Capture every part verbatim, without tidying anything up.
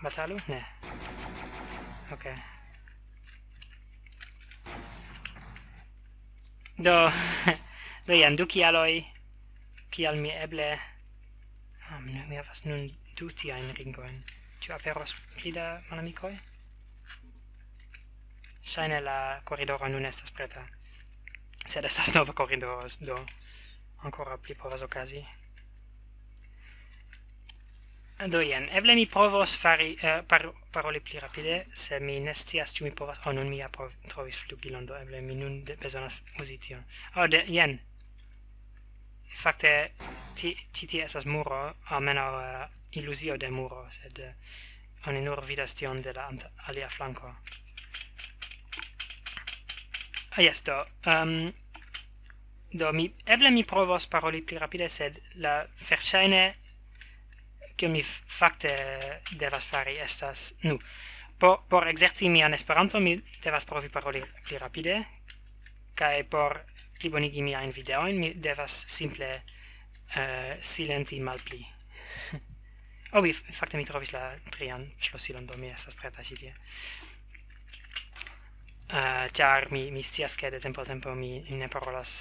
Batalu? Ne. Ok. Do, do jen, du kialoj, kial mi eble... Ah, mi, mi havas nun du tiajn ringojn. Ĉu aperos pli da malamikoj? Ŝajne la koridoro nun estas preta. Sed estas nova koridoro, do ankoraŭ pli povas okazi. Do jen, eble mi provos fari, eh, par-, paroli pli rapide, se mi ne scias, ĉu mi povas... Oh, nun mi ja prov-, trovis flugilon, do eble mi nun de-, bezonas uzi tion. Oh, de, jen. Fakte, ti-, ĉi tie estas muro, almenaŭ, eh, iluzio de muro, sed, eh, oni nur vidas tion de la ant-, alia flanko. Ah, jes, do, ehm, do mi, eble mi provos paroli pli rapide, sed la verŝajne, kion mi f-, fakte devas fari, estas, nu, po-, por ekzerci mian Esperanton, mi devas provi paroli pli rapide, kaj por plibonigi miajn videojn, mi devas simple, eh, silenti malpli. Oh, mi f-, fakte mi trovis la trian ŝlosilon, do mi estas preta ĉi tie. Eh, ĉar mi, mi scias, ke de tempo al tempo mi ne parolas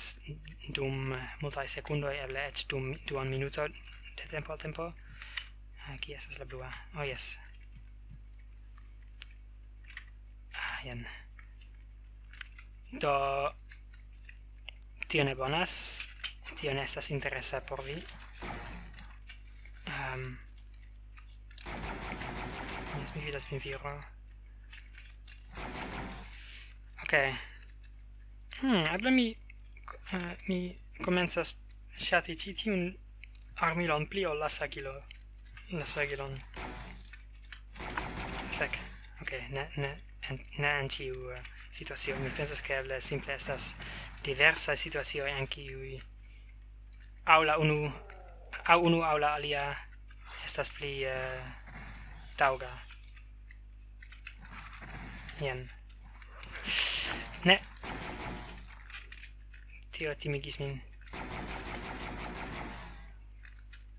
dum multaj sekundoj, eble eĉ dum duon minuto de tempo al tempo. Eh, kie estas la blua? Oh, jes. Ah, jen. Do, tio ne bonas. Tio ne estas interesa por vi. Ehm, jes, mi vidas vin, viro. Ok. Hmm, eble mi, eh, mi komencas ŝati ĉi tiun armilon pli ol la sagilo-, la sagilon. Fek. Ok, ne, ne, en, ne en ĉiu, eh, situacio. Mi pensas, ke eble simple estas diversaj situacioj, en kiuj aŭ la unu, aŭ unu aŭ la alia estas pli, eh, taŭga. Jen. Ne. Tio timigis min.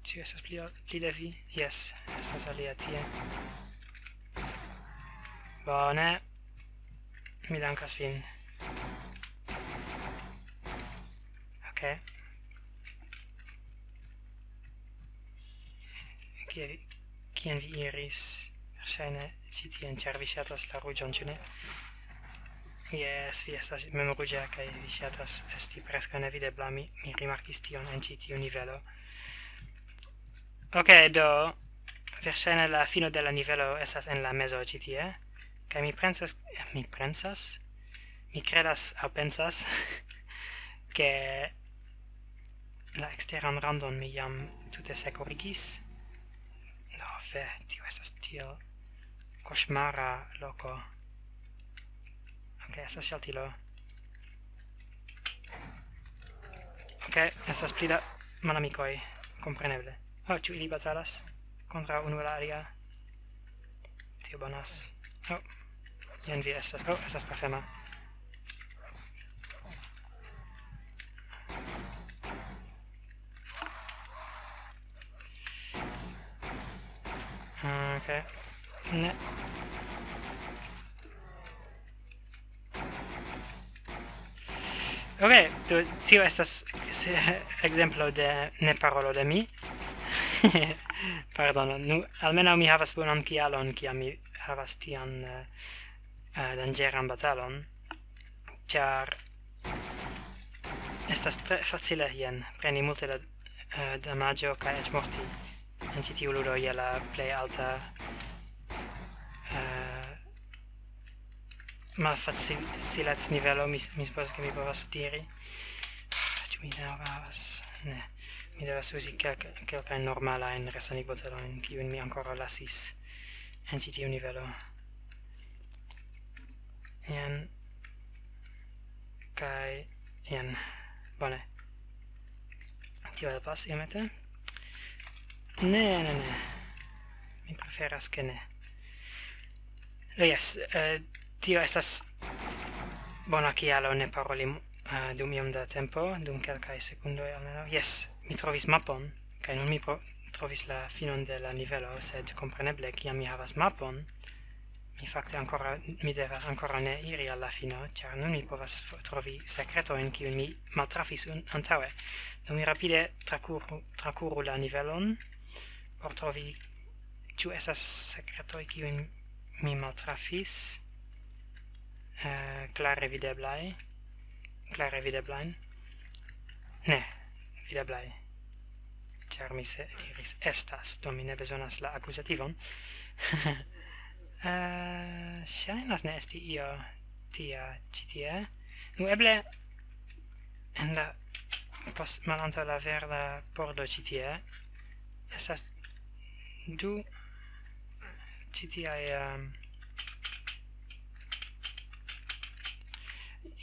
Ĉu estas pli, pli de vi? Jes, estas alia tie. Bone. Mi dankas vin. Ok. Kie vi, kien vi iris? Verŝajne ĉi tien, ĉar vi ŝatas la ruĝon, ĉu ne? Jes, vi estas memruĝa kaj vi ŝatas esti preskaŭ nevidebla. Mi, mi rimarkis tion en ĉi tiu nivelo. Ok, do, verŝajne la fino de la nivelo estas en la mezo ĉi tie. Kaj mi pensas, mi pensas, mi kredas aŭ pensas, ke la eksteran randon mi jam tute sekurigis. No, ve, tio estas tiel koŝmara loko. Ok, estas ŝaltilo. Ok, estas pli da malamikoj, kompreneble. Oh, ĉu ili batalas kontraŭ unu la alia? Tio bonas. Oh, jen vi estas. Oh, estas pafema. Ah, ok. Ne. Ok, do, tio estas se-, ekzemplo de ne parolo de mi. Pardono, nu, almenaŭ mi havas bonan kialon, kiam mi havas tian, eh, eh, danĝeran batalon, ĉar estas tre facile, jen, preni multe da, eh, damaĝo kaj eĉ morti en ĉi tiu ludo je la plej alta, eh, malfacilec-nivelo, mi, mi supozas, ke mi povas diri. Ah, ĉu mi ne havas? Ne. Mi devas uzi kelk-, kelkajn normalajn resanigobotelojn, kiujn mi ankoraŭ lasis en ĉi tiu nivelo. Jen. Kaj jen. Bone. Tio helpas iomete. Ne, ne, ne. Mi preferas, ke ne. Do, jes, eh, tio estas bona kialo ne paroli, eh, dum iom da tempo, dum kelkaj sekundoj almenaŭ. Jes, mi trovis mapon, kaj nun mi pro-, trovis la finon de la nivelo, sed kompreneble, kiam mi havas mapon, mi fakte ankoraŭ, mi devas ankoraŭ ne iri al la fino, ĉar nun mi povas f-, trovi sekretojn, kiujn mi maltrafis un-, antaŭe. Do mi rapide trakuru, trakuru la nivelon por trovi, ĉu estas sekretoj, kiujn mi maltrafis, eh, klare videblaj, klare videblajn. Ne, videblaj. Ĉar mi se diris estas, do mi ne bezonas la akuzativon. Eh, ŝajnas ne esti io tia ĉi tie. Nu, eble en la pos-, malantaŭ la verda pordo ĉi tie estas du ĉi tiaj, ehm,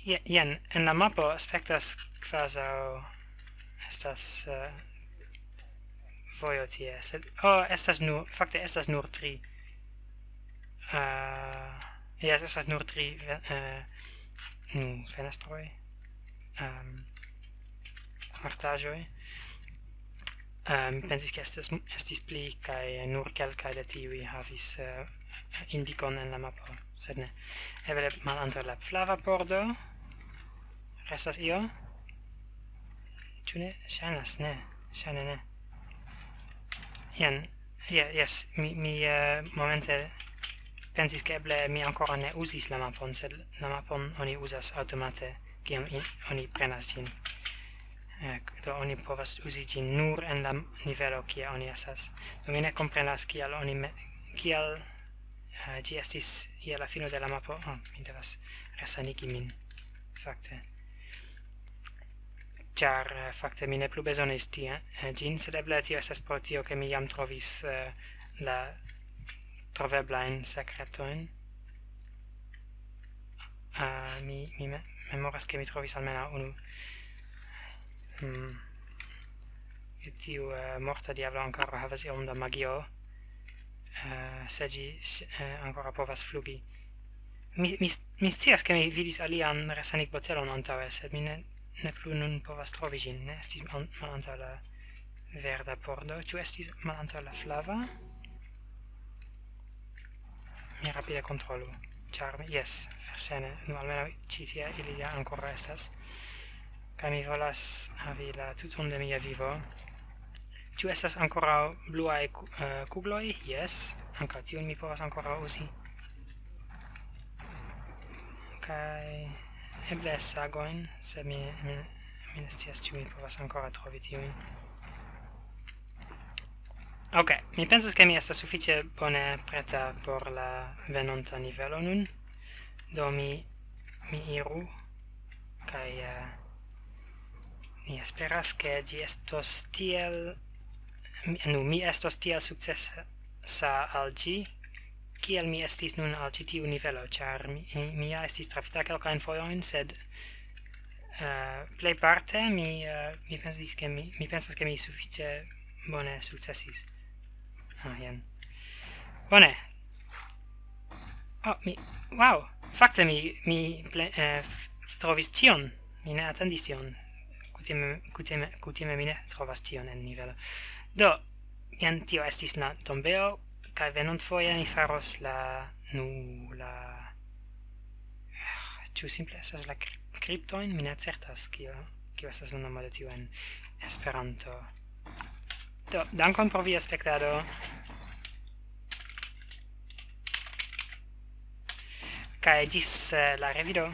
je-, jen, en la mapo aspektas kvazaŭ estas, eh, vojo tie, sed, oh, estas nur, fakte estas nur tri. Eh, jes, estas nur tri ve-, eh, nu, fenestroj, ehm, artaĵoj. Eh, mi pensis, ke estis, estis pli, kaj nur kelkaj de tiuj havis, eh, indikon en la mapo, sed ne. Eble malantaŭ la flava pordo restas io? Ĉu ne? Ŝajnas, ne. Ŝajne ne. Jen. Je-, jes, mi, mi, eh, momente pensis, ke eble mi ankoraŭ ne uzis la mapon, sed la mapon oni uzas aŭtomate, kiam i-, oni prenas ĝin. Eh, do oni povas uzi ĝin nur en la nivelo, kie oni estas. Do mi ne komprenas, kial oni me-, kial, eh, ĝi estis je la fino de la mapo. Oh, mi devas resanigi min, fakte. Ĉar, eh, fakte mi ne plu bezonis tie, eh, ĝin, sed eble tio estas pro tio, ke mi jam trovis, eh, la troveblajn sekretojn. Ah, mi, mi me-, memoras, ke mi trovis almenaŭ unu. Hmm. Tiu, eh, morta diablo ankoraŭ havas iom da magio. Eh, se ĝi, s-, eh, ankoraŭ povas flugi. Mi, mi s-, mi scias, ke mi vidis alian resanigbotelon antaŭe, sed mi ne, ne plu nun povas trovi ĝin. Ne estis an-, malantaŭ la verda pordo. Ĉu estis malantaŭ la flava? Mi rapide kontrolu. Ĉar mi, jes, verŝajne. Nu, almenaŭ ĉi tie ili ja ankoraŭ estas. Kaj mi volas havi la tuton de mia vivo. Ĉu estas ankoraŭ bluaj ku-, eh, kugloj? Jes. Ankaŭ tiun mi povas ankoraŭ uzi. Kaj eble sagojn, sed mi, mi, mi ne scias, ĉu mi povas ankoraŭ trovi tiujn. Ok, mi pensas, ke mi estas sufiĉe bone preta por la venonta nivelo nun. Do mi, mi iru, kaj, eh, mi esperas, ke ĝi estos tiel, mi, nu, mi estos tiel sukcesa al ĝi, kiel mi estis nun al ĉi tiu nivelo, ĉar mi, mi, mi ja estis trafita kelkajn fojojn, sed, eh, plejparte mi, eh, mi pensis, ke mi, mi pensas, ke mi sufiĉe bone sukcesis. Ah, jen. Bone. Oh, mi, wow. Fakte mi, mi ple-, eh, f-, trovis tion. Mi ne atendis tion. Kutime, kutime, kutime mi ne trovas tion en nivelo. Do, jen tio estis la tombeo, kaj venontfoje mi faros la, nu, la, ĉu simple estas la kri-, kriptojn? Mi ne certas, kio, kio estas la nomo de tio en Esperanto. Do, dankon pro via spektado. Kaj ĝis, eh, la revido.